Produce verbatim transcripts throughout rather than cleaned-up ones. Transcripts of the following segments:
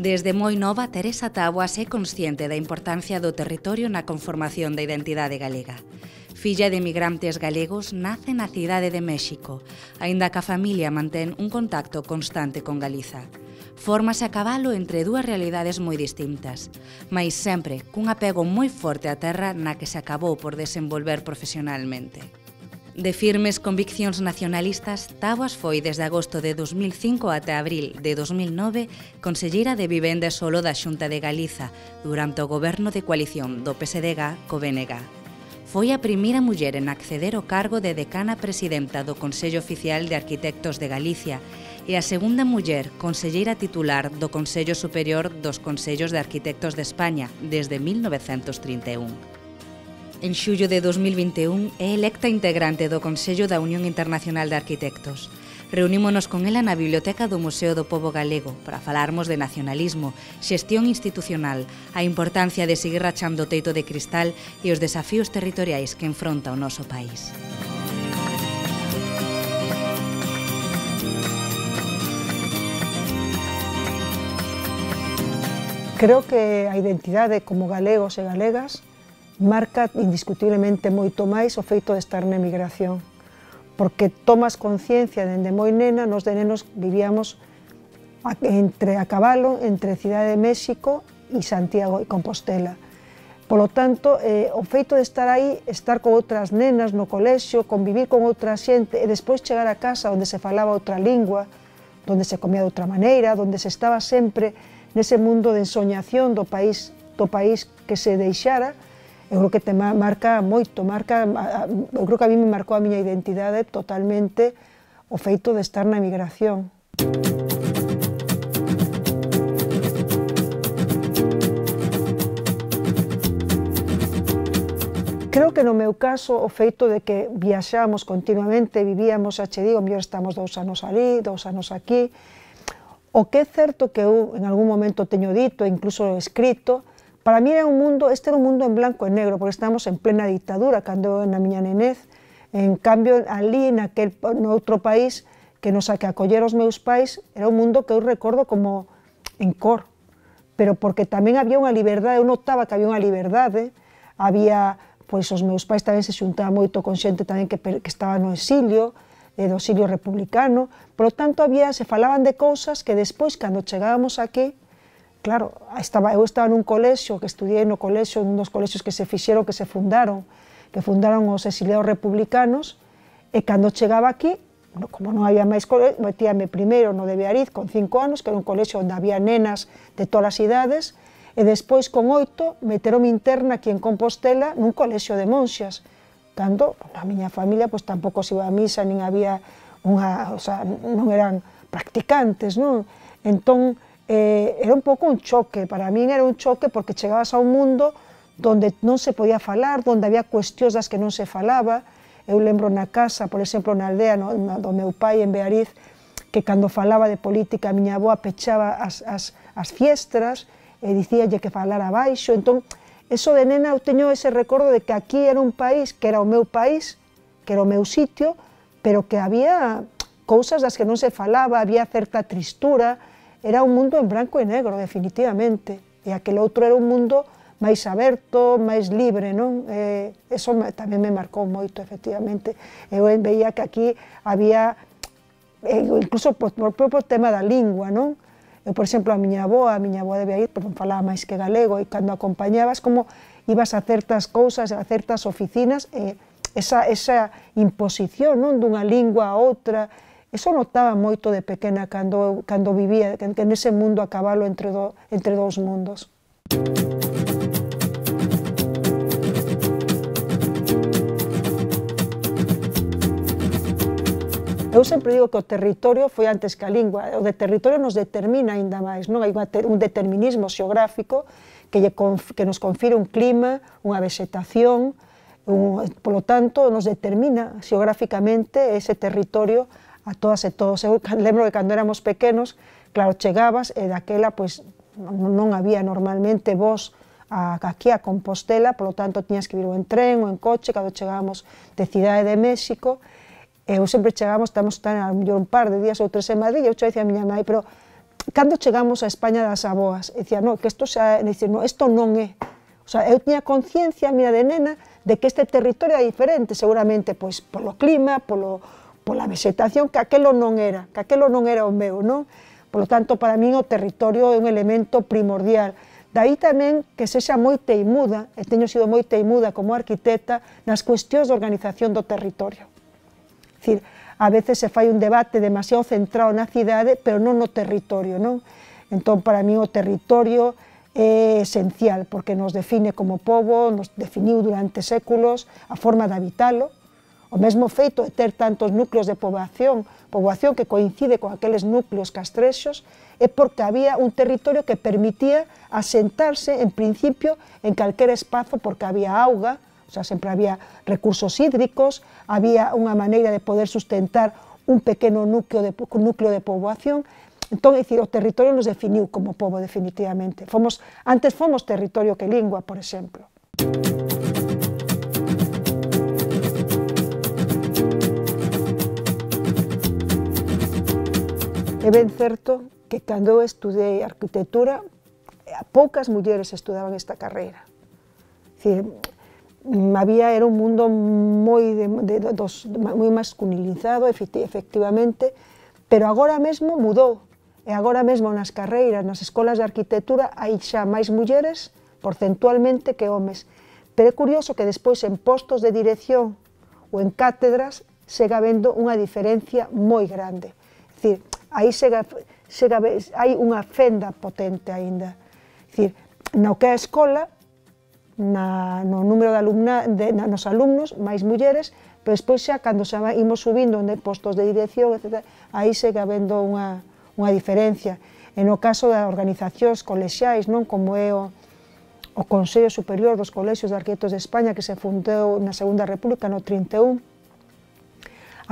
Desde moi nova, Teresa Taboas é consciente da importancia do territorio na conformación da identidade galega. Filla de emigrantes galegos, nace na cidade de México, aínda que a familia mantén un contacto constante con Galiza. Fórmase a cabalo entre dúas realidades moi distintas, mais sempre cun apego moi forte á terra na que se acabou por desenvolver profesionalmente. De firmes conviccións nacionalistas, Taboas foi desde agosto de dos mil cinco até abril de dos mil nove conselleira de Vivenda e Solo da Xunta de Galiza durante o goberno de coalición do P S D G co B N G. Foi a primeira muller en acceder ao cargo de decana presidenta do Consello Oficial de Arquitectos de Galicia e a segunda muller conselleira titular do Consello Superior dos Consellos de Arquitectos de España desde mil novecentos trinta e un. En xullo de dos mil vinte e un é electa integrante do Consello da Unión Internacional de Arquitectos. Reunímonos con ela na Biblioteca do Museo do Pobo Galego para falarmos de nacionalismo, xestión institucional, a importancia de seguir rachando o teito de cristal e os desafíos territoriais que enfronta o noso país. Creo que a identidade como galegos e galegas marca indiscutiblemente moito máis o feito de estar na emigración, porque tomas conciencia dende moi nena, nos de nenos vivíamos entre a cabalo, entre Cidade de México e Santiago e Compostela. Polo tanto, eh, o feito de estar aí, estar con outras nenas no colexio, convivir con outra xente e despois chegar a casa onde se falaba outra lingua, onde se comía de outra maneira, onde se estaba sempre nese mundo de ensoñación do país, do país que se deixara, eu creo que te marca moito, marca, eu creo que a mí me marcou a miña identidade totalmente o feito de estar na emigración. Creo que no meu caso o feito de que viaxamos continuamente, vivíamos, xa che digo, mellor estamos dous anos ali, dous anos aquí, o que é certo que eu en algún momento teño dito, incluso escrito, para mí era un mundo, este era un mundo en blanco e negro, porque estábamos en plena dictadura, cando na miña nenez, en cambio, ali, naquel, no outro país, que nos a que acolleron os meus pais, era un mundo que eu recordo como en cor, pero porque tamén había unha liberdade, eu notaba que había unha liberdade, había, pois, os meus pais tamén se xuntaban moito con xente tamén que, que estaba no exilio, eh, do exilio republicano, por lo tanto, había, se falaban de cousas que despois, cando chegábamos aquí, claro, estaba, eu estaba nun colexio, que estudiei no colexio, nun dos colexios que se fixeron, que se fundaron, que fundaron os exiliados republicanos, e cando chegaba aquí, como non había máis colexio, metíame primeiro no de Beariz, con cinco anos, que era un colexio onde había nenas de todas as idades, e despois, con oito, meteron interna aquí en Compostela, nun colexio de monxas, cando a miña familia pois, tampouco se iba a misa, nin había unha, o sea, non eran practicantes, non? Entón, Eh, era un pouco un choque, para min era un choque porque chegabas a un mundo donde non se podía falar, donde había cuestións das que non se falaba. Eu lembro na casa, por exemplo, na aldea no, na, do meu pai en Beariz, que cando falaba de política a miña avó pechaba as, as, as fiestras e dicíalle que falara baixo. Entón, eso de nena eu teño ese recordo de que aquí era un país que era o meu país, que era o meu sitio, pero que había cousas das que non se falaba, había certa tristura. Era un mundo en branco e negro, definitivamente, e aquel outro era un mundo máis aberto, máis libre, non? Eh, eso tamén me marcou moito, efectivamente. Eu veía que aquí había, eh, incluso por o propio tema da lingua, non? Eu, por exemplo, a miña avó, a miña avó debía ir, pero non falaba máis que galego, e cando acompañabas, como ibas a certas cousas, a certas oficinas, eh, esa, esa imposición, non? Dunha lingua a outra. Eso notaba moito de pequena cando, cando vivía que nese mundo a cabalo entre, do, entre dous mundos. Eu sempre digo que o territorio foi antes que a lingua, o de territorio nos determina aínda máis, non? Hai un determinismo xeográfico que, lle, que nos confire un clima, unha vegetación, un, polo tanto, nos determina xeográficamente ese territorio a todas e todos. Eu lembro que cando éramos pequenos, claro, chegabas e daquela, pois, non había normalmente voz a, aquí a Compostela, polo tanto, tiñas que vir ou en tren ou en coche, cando chegábamos de Cidade de México, eu sempre chegábamos, estamos tan, a mellor un par de días ou tres en Madrid, e eu che dicía a miña mãe, pero cando chegamos a España das aboas, dicía, no, que isto xa, dicía, no, isto non é. O sea, eu tiña conciencia, mira, de nena, de que este territorio era diferente, seguramente, pois, polo clima, polo, pola vegetación, que aquelo non era, que aquelo non era o meu, non? Por lo tanto, para min o territorio é un elemento primordial. Daí tamén que sexa moi teimuda, e teño sido moi teimuda como arquitecta, nas cuestións de organización do territorio. É dicir, a veces se fai un debate demasiado centrado na cidade, pero non no territorio, non? Entón, para mí o territorio é esencial, porque nos define como pobo, nos definiu durante séculos a forma de habitalo, o mesmo feito de ter tantos núcleos de poboación, poboación que coincide con aqueles núcleos castrexos, é porque había un territorio que permitía asentarse, en principio, en calquer espazo, porque había auga, o sea, sempre había recursos hídricos, había unha maneira de poder sustentar un pequeno núcleo de, núcleo de poboación. Entón, é dicir, o territorio nos definiu como pobo definitivamente. Fomos, antes fomos territorio que lingua, por exemplo. É ben certo que cando eu estudei arquitectura, poucas mulleres estudaban esta carreira. É dicir, había, era un mundo moi, de, de, dos, moi masculinizado, efectivamente, pero agora mesmo mudou. E agora mesmo nas carreiras, nas escolas de arquitectura, hai xa máis mulleres porcentualmente que homes. Pero é curioso que despois en postos de dirección ou en cátedras sega vendo unha diferencia moi grande. É dicir, aí sega, sega, hai unha fenda potente aínda. É dicir, no que é a escola, na, no número de alumna, de, na, nos alumnos, máis mulleres, pero despois xa, cando xa imos subindo en postos de dirección, etcétera, aí sega vendo unha unha diferencia. E no caso das organizacións colexiais, non, como é o, o Consello Superior dos Colexios de Arquitectos de España, que se fundou na Segunda República no trinta e un,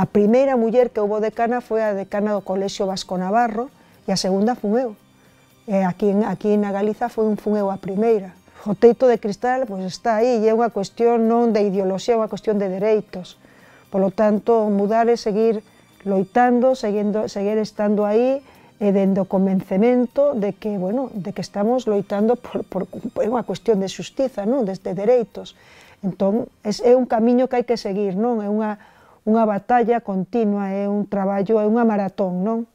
a primeira muller que houve decana foi a decana do Colexio Vasco Navarro, e a segunda fun eu. E aquí, aquí na Galiza foi un fun eu a primeira. O teito de cristal, pois, está aí, e é unha cuestión non de ideoloxía, é unha cuestión de dereitos. Por lo tanto, mudar é seguir loitando, seguindo, seguir estando aí, e dende o convencemento de que, bueno, de que estamos loitando por, por, por unha cuestión de xustiza, non, de, de dereitos. Entón, é, é un camiño que hai que seguir, non? É unha, unha batalla continua, é un traballo, é unha maratón, non?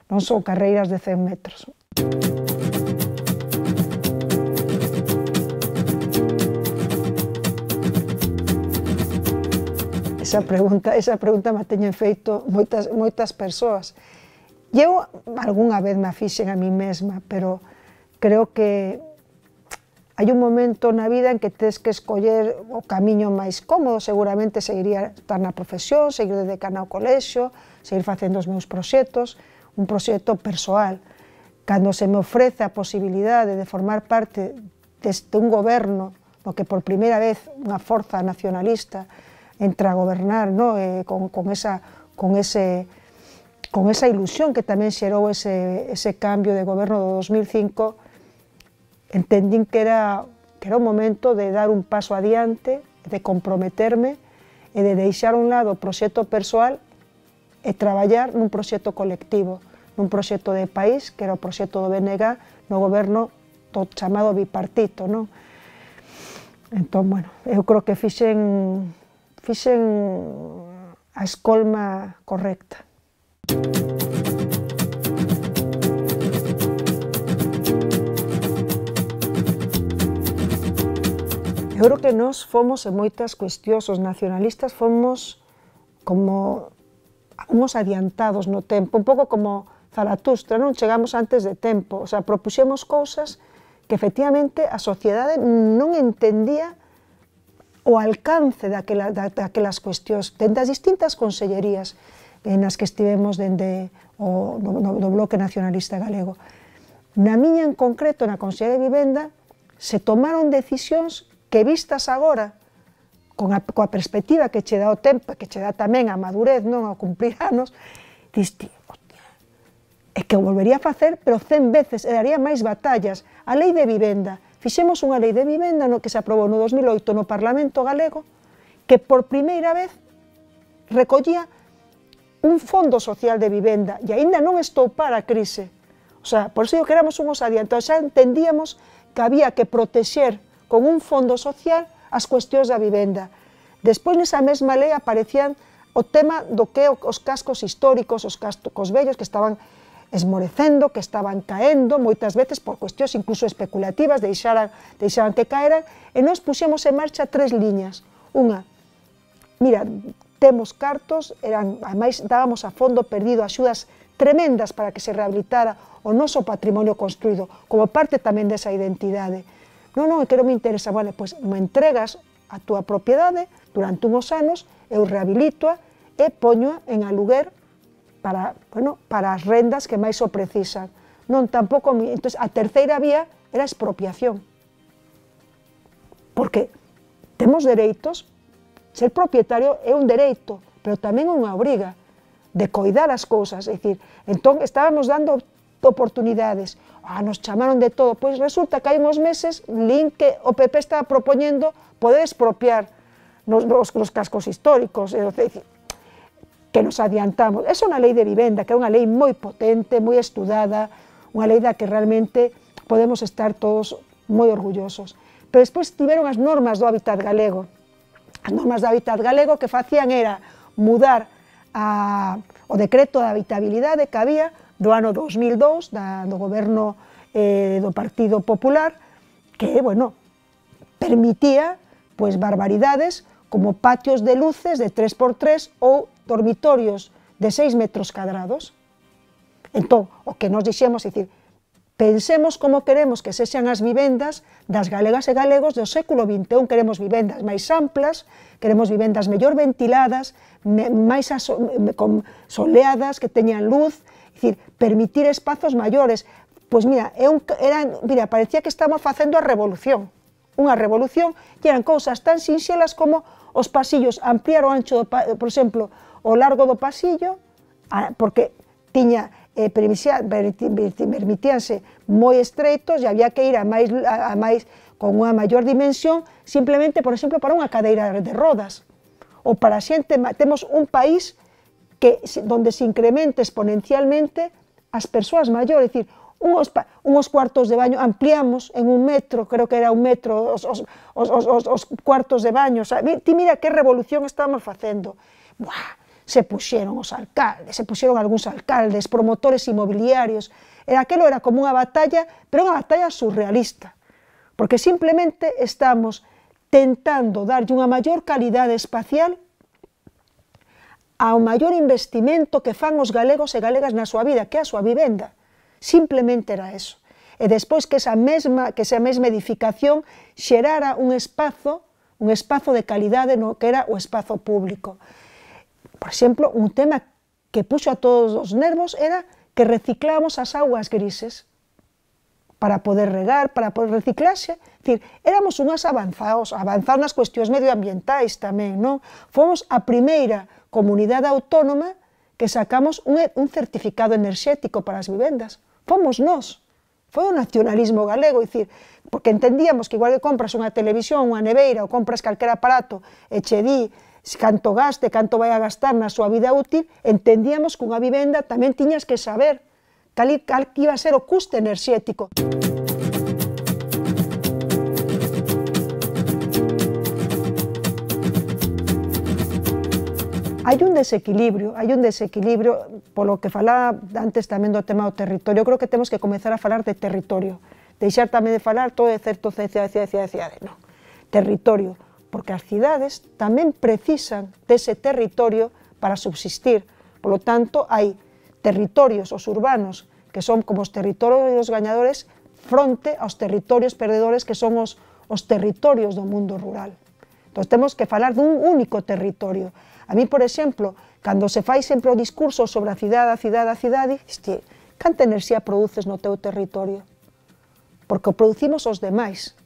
Non son carreiras de cen metros. Esa pregunta, esa pregunta me teñen feito moitas, moitas persoas. E eu algunha vez me fixen a mí mesma, pero creo que hai un momento na vida en que tens que escoller o camiño máis cómodo. Seguramente seguiría estar na profesión, seguir de decana ao colexio, seguir facendo os meus proxectos, un proxecto persoal. Cando se me ofrece a posibilidade de formar parte deste un goberno no que por primeira vez unha forza nacionalista entra a gobernar, no? eh, con, con, esa, con ese... con esa ilusión que tamén xerou ese, ese cambio de goberno do dos mil cinco, entendín que era, que era o momento de dar un paso adiante, de comprometerme e de deixar a un lado o proxecto persoal e traballar nun proxecto colectivo, nun proxecto de país, que era o proxecto do B N G no goberno do chamado bipartito, non? Entón, bueno, eu creo que fixen, fixen a escolma correcta. Eu creo que nós fomos en moitas cuestións, os nacionalistas fomos como uns adiantados no tempo, un pouco como Zaratustra, non? Chegamos antes de tempo, o sea, propuxemos cousas que efectivamente a sociedade non entendía o alcance daquela, daquelas cuestións, dende as distintas consellerías nas que estivemos dende o no, no Bloque Nacionalista Galego. Na miña en concreto, na Consellería de Vivenda, se tomaron decisións que vistas agora, con a, coa perspectiva que che dá o tempo, que che dá tamén a madurez, non, a cumplir anos, diste, hostia, é que o volvería a facer, pero cen veces, e daría máis batallas. A Lei de Vivenda, fixemos unha Lei de Vivenda no que se aprobou no dos mil oito no Parlamento Galego, que por primeira vez recollía un fondo social de vivenda, e aínda non estou para a crise. O O sea, por eso digo que éramos unos adiantados, xa entendíamos que había que protexer con un fondo social as cuestións da vivenda. Despois, nesa mesma lei, aparecían o tema do que os cascos históricos, os cascos vellos que estaban esmorecendo, que estaban caendo, moitas veces por cuestións incluso especulativas, deixaran, deixaran que caeran, e nós puxemos en marcha tres liñas. Unha, mira, temos cartos, eran, ademais dábamos a fondo perdido axudas tremendas para que se rehabilitara o noso patrimonio construído, como parte tamén desa identidade. Non, non, é que non me interesa, vale, pois me entregas a túa propiedade durante unhos anos, eu rehabilitoa e poñoa en aluguer para, bueno, para as rendas que máis o precisan. Non, tampouco, entón, a terceira vía era a expropiación. Porque temos dereitos, ser propietario é un dereito, pero tamén é unha obriga de coidar as cousas, é dicir, entón estábamos dando oportunidades, ah, nos chamaron de todo, pois resulta que hai uns meses lín que o P P estaba propoñendo poder expropiar nos, nos, nos cascos históricos, é dicir, que nos adiantamos. Esa é unha lei de vivenda, que é unha lei moi potente, moi estudada, unha lei da que realmente podemos estar todos moi orgullosos. Pero despois tiveron as normas do hábitat galego. As normas do hábitat galego que facían era mudar a, o decreto de habitabilidade que había do ano dos mil dous, da, do goberno eh, do Partido Popular, que, bueno, permitía, pois, barbaridades como patios de luces de tres por tres ou dormitorios de seis metros cadrados. Entón, o que nos dixemos, é dicir, pensemos como queremos que sexan as vivendas das galegas e galegos do século vinte e un, queremos vivendas máis amplas, queremos vivendas mellor ventiladas, máis soleadas, que teñan luz, é dicir, permitir espazos maiores. Pois mira, é un, eran, mira, parecía que estamos facendo a revolución, unha revolución, que eran cousas tan sinxelas como os pasillos, ampliar o ancho, do, por exemplo, o largo do pasillo, porque tiña, eh, permitíanse moi estreitos e había que ir a máis, a, a máis, con unha maior dimensión, simplemente, por exemplo, para unha cadeira de rodas, ou para a xente, temos un país que, donde se incrementa exponencialmente as persoas maiores, é dicir, Unos, unos cuartos de baño, ampliamos en un metro, creo que era un metro, os, os, os, os, os cuartos de baño, o sea, ti mira que revolución estamos facendo. Buah, se puxeron os alcaldes, se puxeron algúns alcaldes, promotores inmobiliarios, e aquelo era como unha batalla, pero unha batalla surrealista, porque simplemente estamos tentando darlle unha maior calidade espacial ao maior investimento que fan os galegos e galegas na súa vida, que é a súa vivenda. Simplemente era eso. E despois que esa mesma, que esa mesma edificación xerara un espazo, un espazo de calidade no que era o espazo público. Por exemplo, un tema que puxo a todos os nervos era que reciclamos as augas grises para poder regar, para poder reciclarse. É dicir, éramos unhas avanzados, avanzados nas cuestións medioambientais tamén, non? Fomos a primeira comunidade autónoma que sacamos un, un certificado enerxético para as vivendas. Fomos nós, foi o nacionalismo galego, é dicir, porque entendíamos que igual que compras unha televisión, unha neveira ou compras calquer aparato e che di canto gaste, canto vai a gastar na súa vida útil, entendíamos que unha vivenda tamén tiñas que saber cal, cal iba a ser o custe enerxético. Hai un desequilibrio, hai un desequilibrio, polo que falaba antes tamén do tema do territorio. Eu creo que temos que comezar a falar de territorio, deixar tamén de falar todo de certo cidade, cidade, cidade, non. Territorio, porque as cidades tamén precisan dese territorio para subsistir. Por lo tanto, hai territorios, os urbanos, que son como os territorios gañadores, fronte aos territorios perdedores, que son os, os territorios do mundo rural. Entón, temos que falar dun único territorio. A mí, por exemplo, cando se fai sempre o discurso sobre a cidade, a cidade, a cidade, este, canta enerxía produces no teu territorio? Porque o producimos os demais.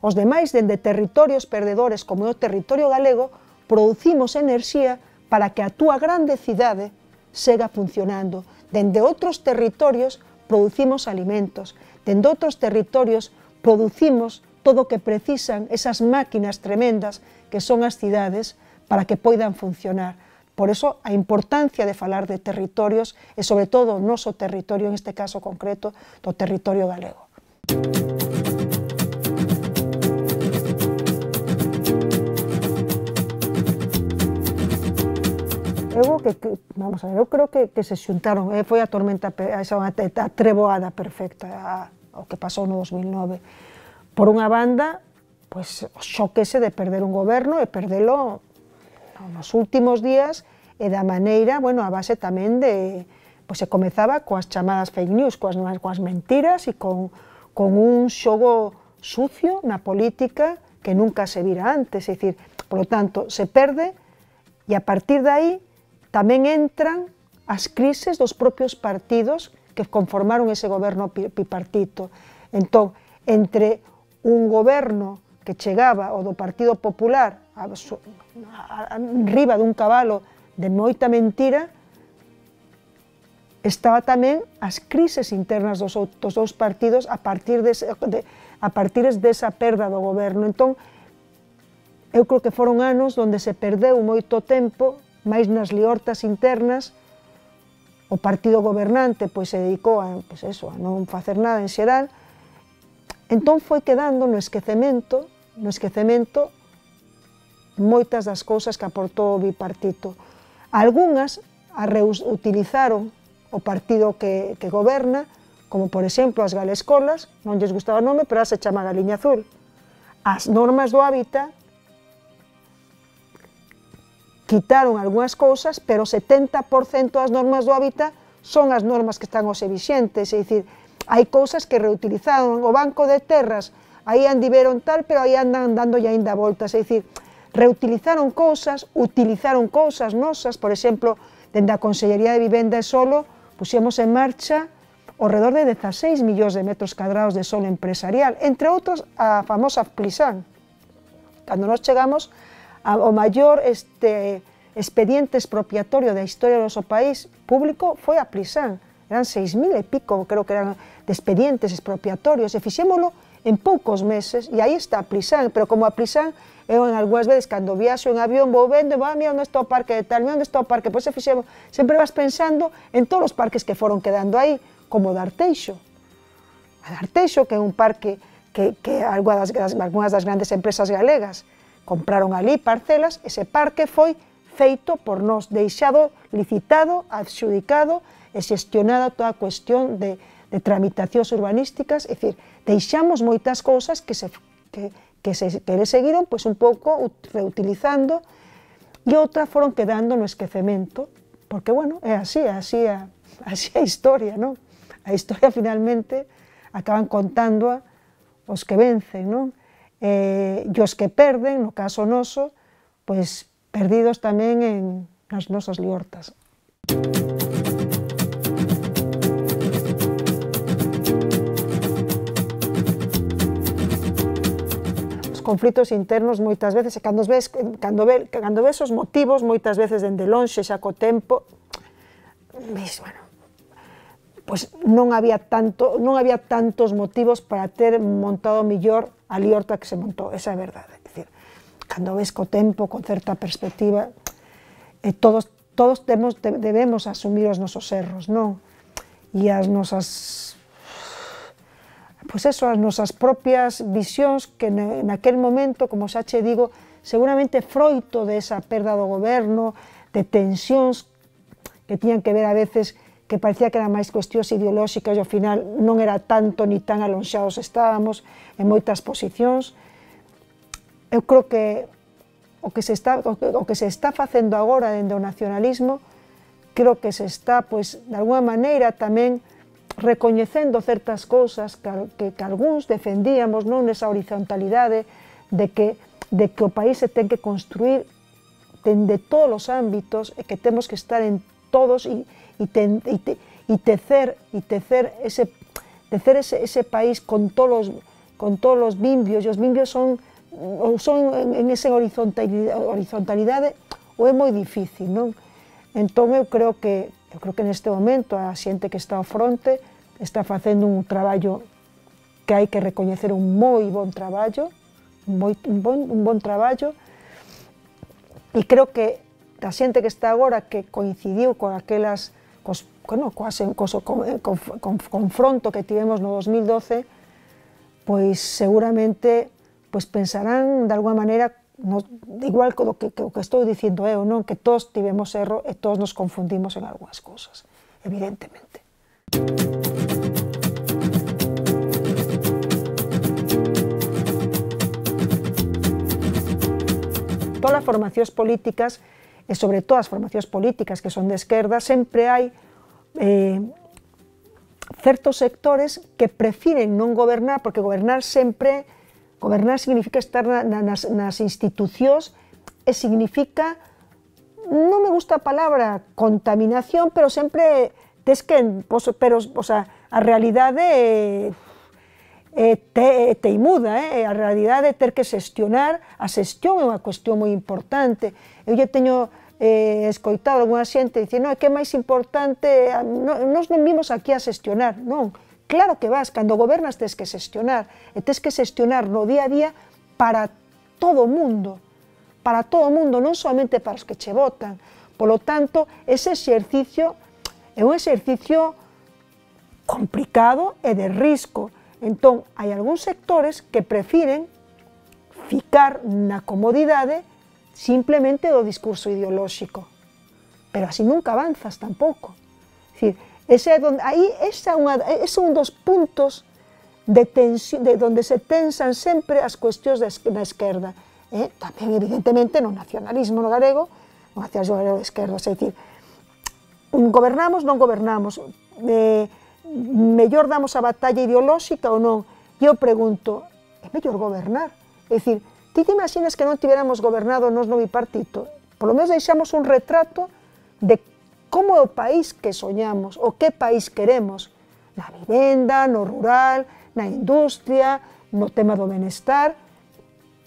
Os demais, dende territorios perdedores como o territorio galego, producimos enerxía para que a túa grande cidade sega funcionando. Dende outros territorios producimos alimentos. Dende outros territorios producimos todo o que precisan esas máquinas tremendas que son as cidades para que poidan funcionar. Por eso a importancia de falar de territorios e sobre todo o noso territorio, en este caso concreto, do territorio galego. Eu, que, que, vamos a ver, eu creo que, que se xuntaron, eh, foi a tormenta, a, a treboada perfecta, a, o que pasou no dos mil nove. Por unha banda, pois, o xoquese de perder un goberno e perdelo nos últimos días e da maneira, bueno, a base tamén de, pois se comezaba coas chamadas fake news, coas, coas mentiras e con, con un xogo sucio na política que nunca se vira antes, é dicir, por lo tanto, se perde e a partir de aí tamén entran as crises dos propios partidos que conformaron ese goberno bipartito. Entón, entre un goberno que chegaba o do Partido Popular a, a, a, riba dun cabalo de moita mentira, estaba tamén as crises internas dos, dos dous partidos a partir de, de, a partir desa perda do goberno. Entón, eu creo que foron anos onde se perdeu moito tempo, máis nas liortas internas. O partido gobernante pois, se dedicou a, pois eso, a non facer nada en xeral. Entón foi quedando no esquecemento, no esquecemento moitas das cousas que aportou o bipartito. Algúnas a reutilizaron o partido que, que goberna, como por exemplo as galescolas, non lles gustaba o nome, pero se chama Galiña Azul. As normas do hábitat quitaron algunhas cousas, pero o setenta por cento das normas do hábitat son as normas que están hoxe vixentes, é dicir, hai cousas que reutilizaron, o Banco de Terras, aí andiveron tal, pero aí andan dando ya ainda voltas, é dicir, reutilizaron cousas, utilizaron cousas nosas, por exemplo, dende a Consellería de Vivenda e Solo, puxemos en marcha ao redor de dezaseis millóns de metros cadrados de solo empresarial, entre outros a famosa Plisán. Cando nos chegamos o maior este, expediente expropiatorio da historia do noso país público foi a Plisán. Eran seis mil e pico, creo que eran, de expedientes expropiatorios, e fixémolo en poucos meses, e aí está a Plisán, pero como a Plisán, eu en algunhas veces, cando viaxo en avión, vou vendo, e va, mira onde está o parque de tal, mira onde está o parque, pois se fixemos, sempre vas pensando en todos os parques que foron quedando aí, como o de Arteixo. A de Arteixo, que é un parque que, que algunhas das, algunhas das grandes empresas galegas compraron ali parcelas, ese parque foi feito por nós, deixado, licitado, adxudicado e xestionado toda a cuestión de, de tramitacións urbanísticas, é dicir, deixamos moitas cousas que se, que, que se que seguiron pois, un pouco reutilizando e outras foron quedando no esquecemento, porque, bueno, é así, é así a, así a historia, non? A historia, finalmente, acaban contándoa os que vencen, non? Eh, e os que perden, no caso noso, pois perdidos tamén en nas nosas liortas. Os conflitos internos moitas veces, cando ves, cando ves, cando ves os motivos, moitas veces dende lonxe, xa co tempo, ves, bueno, pois non había tanto, non había tantos motivos para ter montado mellor a liorta que se montou, esa é a verdade. É dicir, cando ves co tempo, con certa perspectiva, eh, todos, todos temos, debemos asumir os nosos erros, non? E as nosas, pois eso, as nosas propias visións que naquel momento, como xa che digo, seguramente froito desa perda do goberno, de tensións que tiñan que ver a veces que parecía que eran máis cuestións ideolóxicas e ao final non era tanto ni tan alonxados estábamos en moitas posicións. Eu creo que o que se está, o que se está facendo agora dende o nacionalismo, creo que se está, pois, de alguma maneira tamén recoñecendo certas cousas que, que, que algúns defendíamos, non, nesa horizontalidade de que, de que o país se ten que construir dende todos os ámbitos e que temos que estar en todos e e, ten, e, te, e tecer, e tecer, ese, tecer ese, ese país con todos, con todos os bimbios, e os bimbios son, ou son en, en esa horizontalidade, horizontalidade ou é moi difícil, non? Entón eu creo que, eu creo que neste momento a xente que está ao fronte está facendo un traballo que hai que recoñecer, un moi bon traballo, un, moi, un, bon, un bon traballo, e creo que da xente que está agora que coincidiu con aquelas, cos, bueno, coas, cos, con, con, con, confronto que tivemos no dos mil doce, pois seguramente pois pensarán de alguma maneira, no, igual que o que, que, que estou dicindo eu, non? Que todos tivemos erro e todos nos confundimos en algunhas cousas, evidentemente. Todas as formacións políticas, e sobre todo as formacións políticas que son de esquerda, sempre hai eh, certos sectores que prefiren non gobernar, porque gobernar sempre, gobernar significa estar na, nas, nas institucións e significa, non me gusta a palabra contaminación, pero sempre tes que, pero, o sea, a realidade é, é, te, é teimuda, eh? A realidade é ter que xestionar, a xestión é unha cuestión moi importante. Eu lle teño eh, escoitado alguna xente dicir, non, é que é máis importante, non, nos non vimos aquí a xestionar, non, claro que vas, cando gobernas tes que xestionar, e tes que xestionar no día a día para todo o mundo, para todo o mundo, non somente para os que che votan. Polo tanto, ese exercicio é un exercicio complicado e de risco. Entón, hai algúns sectores que prefiren ficar na comodidade simplemente do discurso ideolóxico. Pero así nunca avanzas tampouco. É dicir, ese é donde, aí, ese é, unha, ese é un dos puntos de, tensión, de donde se tensan sempre as cuestións da esquerda. Eh? Tamén, evidentemente, no nacionalismo no galego, no nacionalismo galego de esquerda, é dicir, gobernamos, non gobernamos, eh, mellor damos a batalla ideolóxica ou non? E eu pregunto, é mellor gobernar? É dicir, ti te imaginas que non tiveramos gobernado nos no bipartito? Por lo menos deixamos un retrato de como é o país que soñamos, o que país queremos, na vivenda, no rural, na industria, no tema do benestar.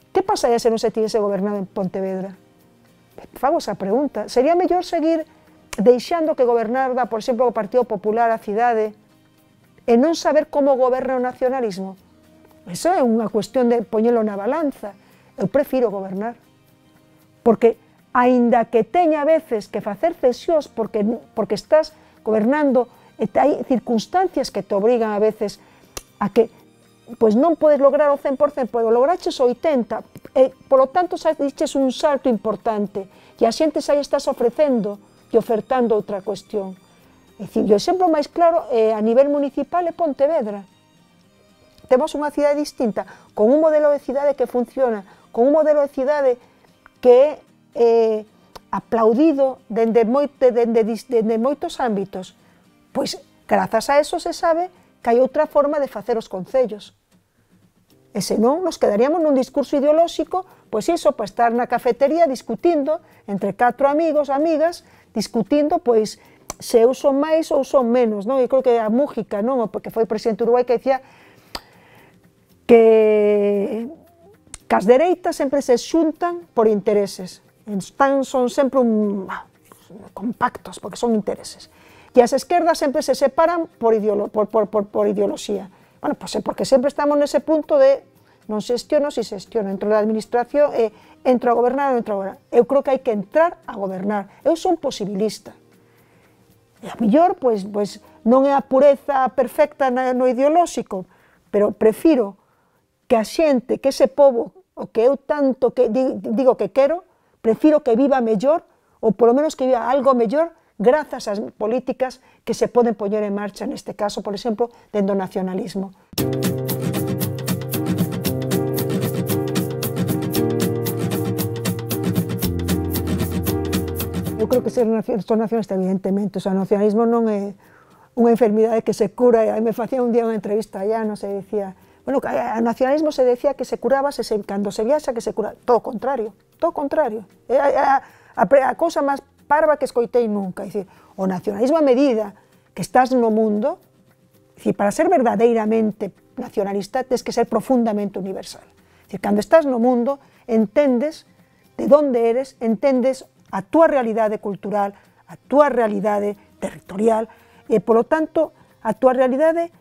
Que pasaría se non se tivese gobernado en Pontevedra? Fago esa pregunta. Sería mellor seguir deixando que gobernara, por exemplo, o Partido Popular a cidade e non saber como goberna o nacionalismo? Eso é unha cuestión de poñelo na balanza. Eu prefiro gobernar. Porque, aínda que teña a veces que facer cesións porque, porque estás gobernando e hai circunstancias que te obrigan a veces a que pois non podes lograr o cen por cen, pero lograches o oitenta por cen, e, polo tanto, xa diches un salto importante e a xente xa estás ofrecendo e ofertando outra cuestión. É dicir, o exemplo máis claro é, a nivel municipal é Pontevedra. Temos unha cidade distinta, con un modelo de cidade que funciona, con un modelo de cidade que é eh, aplaudido dende, moite, dende, dende moitos ámbitos. Pois, grazas a eso se sabe que hai outra forma de facer os concellos. E senón, nos quedaríamos nun discurso ideolóxico, pois iso, para estar na cafetería discutindo entre catro amigos, amigas, discutindo, pois, se eu son máis ou son menos, non? Eu creo que a Mújica, non? Porque foi presidente do Uruguai, que decía que, que as dereitas sempre se xuntan por intereses. Están, son sempre un, compactos, porque son intereses. E as esquerdas sempre se separan por, ideolo, por, por, por, por ideoloxía. Bueno, pois é porque sempre estamos nese punto de non xestiono, si xestiono, entro na administración e entro a gobernar ou entro a gobernar. Eu creo que hai que entrar a gobernar. Eu son posibilista. E a mellor, pois, pois non é a pureza perfecta no ideolóxico, pero prefiro que a xente, que ese pobo, o que eu tanto que digo que quero, prefiro que viva mellor, ou polo menos que viva algo mellor, grazas ás políticas que se poden poñer en marcha, neste caso, por exemplo, dentro do nacionalismo. Eu creo que ser nacionalista, evidentemente, o sea, o nacionalismo non é unha enfermidade que se cura, e me facía un día unha entrevista allá, non se decía, bueno, que o nacionalismo se decía que se curaba se, se, cando se viaxa que se cura, todo o contrario, todo o contrario, é a, a, a, a cousa máis parva que escoitei nunca, é dicir, o nacionalismo a medida que estás no mundo, é dicir, para ser verdadeiramente nacionalista tens que ser profundamente universal, é dicir, cando estás no mundo entendes de onde eres, entendes a túa realidade cultural, a túa realidade territorial e, polo tanto, a túa realidade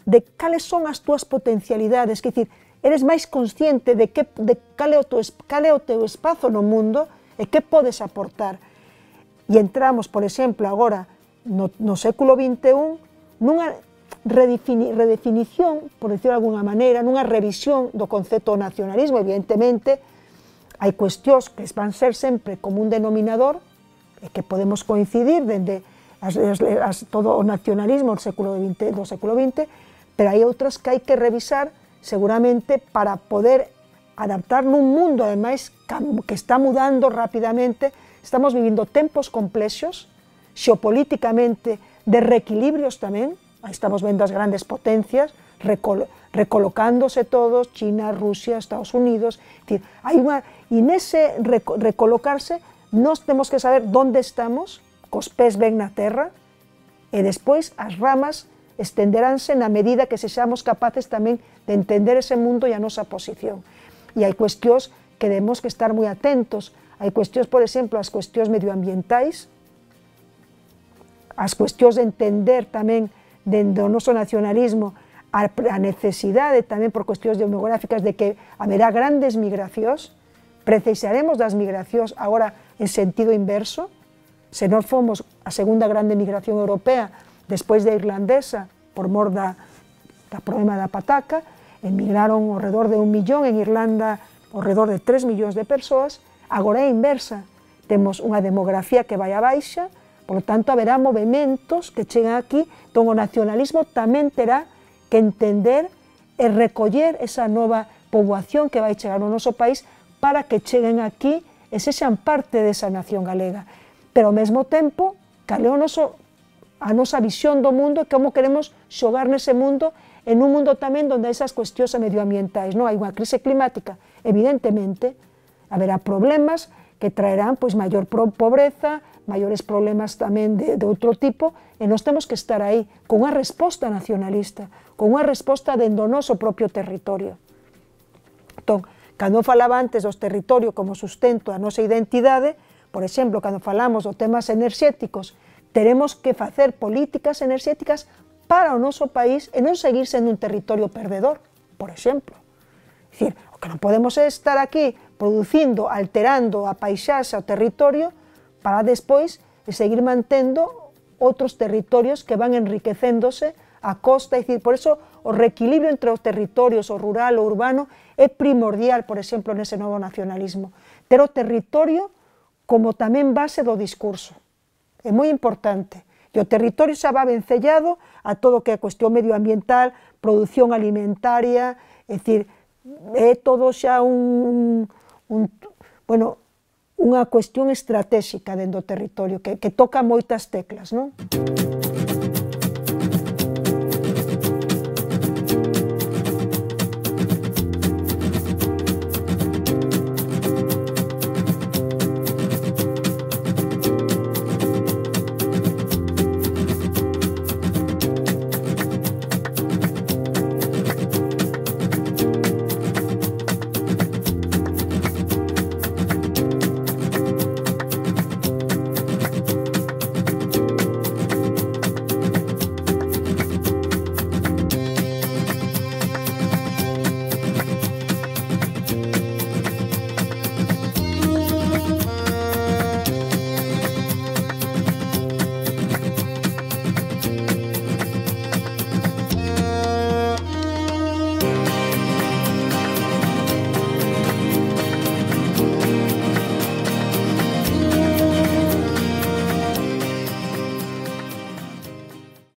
de cales son as túas potencialidades, que dicir, eres máis consciente de, que, de cal, é o teu, cal é o teu espazo no mundo e que podes aportar. e entramos, por exemplo, agora no, no século vinte e un nunha redefini, redefinición, por decirlo de alguna maneira, nunha revisión do concepto do nacionalismo. Evidentemente, hai cuestións que van ser sempre como un denominador e que podemos coincidir dende as, as, as, todo o nacionalismo do século vinte, do século vinte, pero hai outras que hai que revisar seguramente para poder adaptar nun mundo, ademais, que está mudando rapidamente. Estamos vivindo tempos complexos, xeopolíticamente, de reequilibrios tamén. Estamos vendo as grandes potencias recol recolocándose todos, China, Rusia, Estados Unidos. Es decir, hai unha, e nese reco recolocarse, nós temos que saber onde estamos, cos pés ben na terra, e despois as ramas estenderánse na medida que sexamos capaces tamén de entender ese mundo e a nosa posición. E hai cuestións que debemos que estar moi atentos. Hai cuestións, por exemplo, as cuestións medioambientais, as cuestións de entender tamén dentro do noso nacionalismo a necesidade tamén por cuestións demográficas de que haberá grandes migracións. Precisaremos das migracións agora en sentido inverso. Se nós fomos a segunda grande migración europea despois da irlandesa por mor da, da problema da pataca, emigraron ao redor de un millón, en Irlanda ao redor de tres millóns de persoas. Agora é inversa, temos unha demografía que vai a baixa, por lo tanto haberá movimentos que chegan aquí, entón o nacionalismo tamén terá que entender e recoller esa nova poboación que vai chegar no noso país para que cheguen aquí e sexan parte desa nación galega. Pero ao mesmo tempo, cal é o noso, a nosa visión do mundo e como queremos xogar nese mundo, en un mundo tamén onde esas cuestións medioambientais, non hai unha crise climática, evidentemente, haberá problemas que traerán pois maior pobreza, maiores problemas tamén de, de outro tipo, e nós temos que estar aí con unha resposta nacionalista, con unha resposta dentro do noso propio territorio. Entón, cando falaba antes dos territorios como sustento da nosa identidade, por exemplo, cando falamos dos temas enerxéticos, teremos que facer políticas enerxéticas para o noso país e non seguir sendo un territorio perdedor, por exemplo. É dicir, o que non podemos é estar aquí producindo, alterando a paisaxe, o territorio, para despois seguir mantendo outros territorios que van enriquecéndose a costa. É dicir, por eso o reequilibrio entre os territorios, o rural, o urbano, é primordial, por exemplo, nese novo nacionalismo. Ter o territorio como tamén base do discurso. É moi importante. E o territorio xa va vencellado a todo o que é a cuestión medioambiental, produción alimentaria, é dicir, é todo xa un, un bueno, unha cuestión estratégica dentro do territorio que, que toca moitas teclas, non?